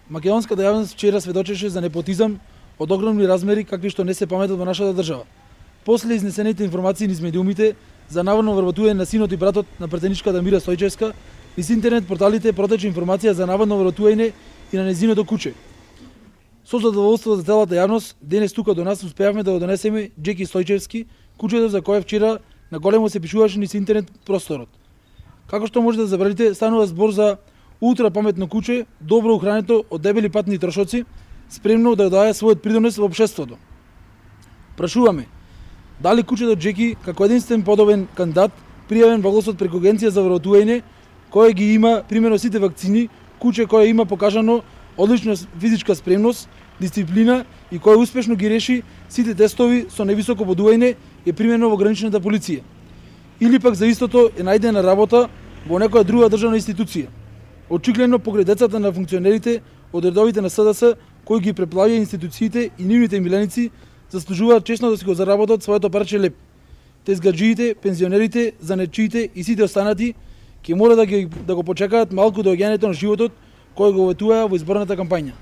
Македонската јавност вчера сведочеше за непотизам од огромни размери какви што не се паметат во нашата држава. После изнесените информации низ медиумите за наводно вработување на синот и братот на претеничката Мира Стојчевска, низ интернет порталите протече информација за наводно вработување и на нејзиното куче. Со задоволство за целата јавност, денес тука до нас успеавме да го донесеме Џеки Стојчевски, кучето за кое вчера на големо се пишуваше низ интернет просторот. Како што може да забележите, станува збор за ултра паметно куче, добро ухрането од дебели патни трошоци, спремно да даде својот придонес во општеството. Прашуваме, дали кучето Џеки, како единствен подобен кандидат, пријавен во гласот преку Агенција за вработување, кој ги има примерно сите вакцини, куче кој има покажано одлична физичка спремност, дисциплина и кој успешно ги реши сите тестови со невисоко бодување е примено во граничната полиција. Или пак за истото е најдена работа во некоја друга државна институција. Очигледно покрај децата на функционерите од редовите на СДС кои ги преплавија институциите и нивните миленици заслужуваат честно да си го заработат своето парче леп. Тезгаджиите, пензионерите, занечиите и сите останати ќе мора да го почекаат малку доаѓањето на животот кој го ветуваа во изборната кампања.